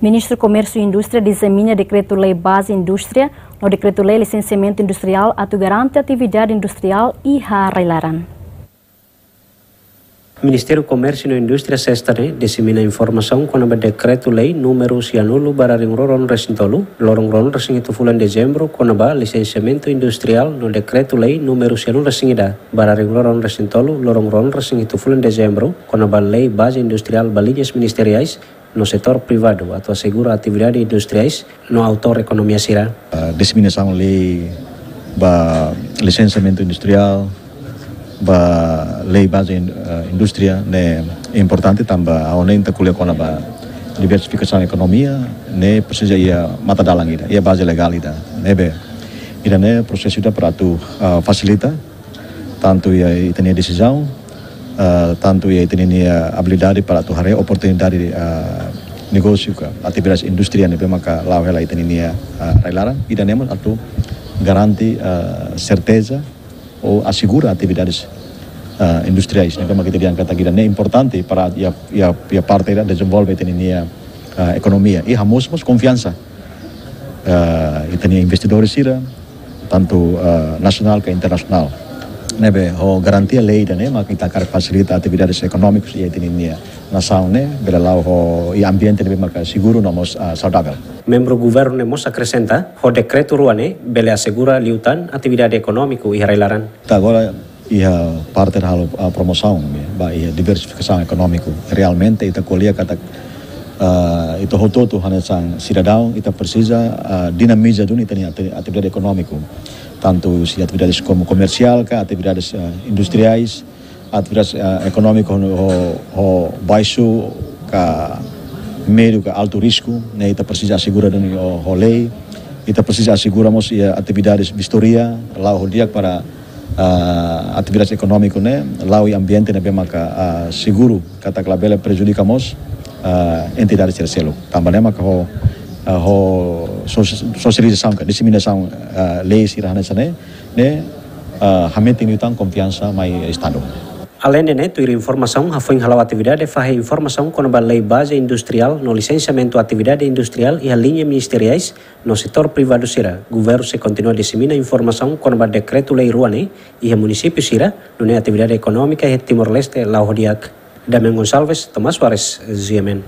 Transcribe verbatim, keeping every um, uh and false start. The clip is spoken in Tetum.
Ministru Komérsiu i Indústria dizemina Dekretu-Lei Baze Indústria no Dekretu-Lei Lisensiamentu Industriál atu garante atividade industriál iha rai-laran. Ministériu Komérsiu no Indústria, sesta ne'e, dezemina informasaun kona-ba Dekretu-Lei númeru sianulu barra rihun rua ruanulu resin tolu, loron rua ruanulu resin hitu fulan Dezembru, kona-ba lisensiamentu industriál no Dekretu-Lei númeru sianulu resin ida barra rihun rua ruanulu resin tolu, loron rua ruanulu resin hitu fulan Dezembru, kona-ba Lei Baze Industriál ba liñas ministeriais no setór privadu atu asegura atividade industriais no autór ekonomia sira. Ah, diseminasaun lei ba lisensiamentu industriál, ba lei baze in-, ah, indústria ne'e importante tanba ha'u hanoin ita ko'alia kona-ba diversifikasaun ekonomia, ne'e presiza iha matadalan ida, iha baze legál ida. Ne'ebé ida-ne'e prosesu ida para atu, ah, fasilita tantu iha ita-nia desizaun, ah, tantu iha ita-nia abilidade para atu haree oportunidade, ah, negósiu ka atividade indústria ne'ebé maka la'o hela ita-nia, ah, rai-laran. Ida-ne'e mós atu garante, ah, serteza ou asegura atividades, ah, industriais ne'ebé maka ita dehan katak ida-ne'e importante para iha, iha, iha parte ida dezenvolve ita-nia, ah, ekonomia. I hamoos mós konfiansa, ah, ita-nia investidór sira, tantu, ah, nasionál ka internasionál. Ne'ebé ho garantia lei ida-ne'e maka ita hakarak fasilita atividades ekonómikus iha ita-nia nasaun ne'e, bele la'o ho iha ambiente ne'ebé maka seguru no mós, ah, saudavel. Membru governu ne'e mós akresenta, ho dekretu rua ne'e bele asegura liután atividade ekonómiku iha rai-laran. Ita agora iha parte halo, ah, promosaun, ya, ba iha diversifikasaun ekonómiku. Realmente ita ko'alia katak, ah, ita hotu-hotu hanesan sidadaun, ita presiza, ah, dinamiza duni ita-nia ati-, atividade ekonómiku. Tantu se atividades komu komersiál ka atividades, ah, industriais, atividades, ah, ekonómiku ho, ho, ho baixu ka médiu ka altu risku, ne'e ita presiza asegura duni ho, ho lei. Ita presiza asegura mós iha atividades vistoria, la'o ho di'ak para, ah, atividades ekonómiku ne'e la'o iha ambiente ne'ebé maka, ah, seguru, katak labele prejudika mós, ah, entidade sira seluk. Tanba ne'e maka ho, ah, ho sos-, sosializasaun ka diseminasaun, ah, lei sira hanesan ne'e, ne'e, ah, hametin liután konfiansa mai Estadu. Aleinde ne'e, tuir informasaun, hafoin hala'o atividade fahe informasaun kona-ba lei baze industriál no lisensiamentu atividade industriál iha liña ministeriais no setór privadu sira. Governu sei kontinua disemina informasaun kona-ba dekretu-lei rua ne'e iha munisípiu sira, nune'e atividade ekonómika iha Timor-Leste la'o ho di'ak. Damian Gonçalves, Tomás Soares, G M N.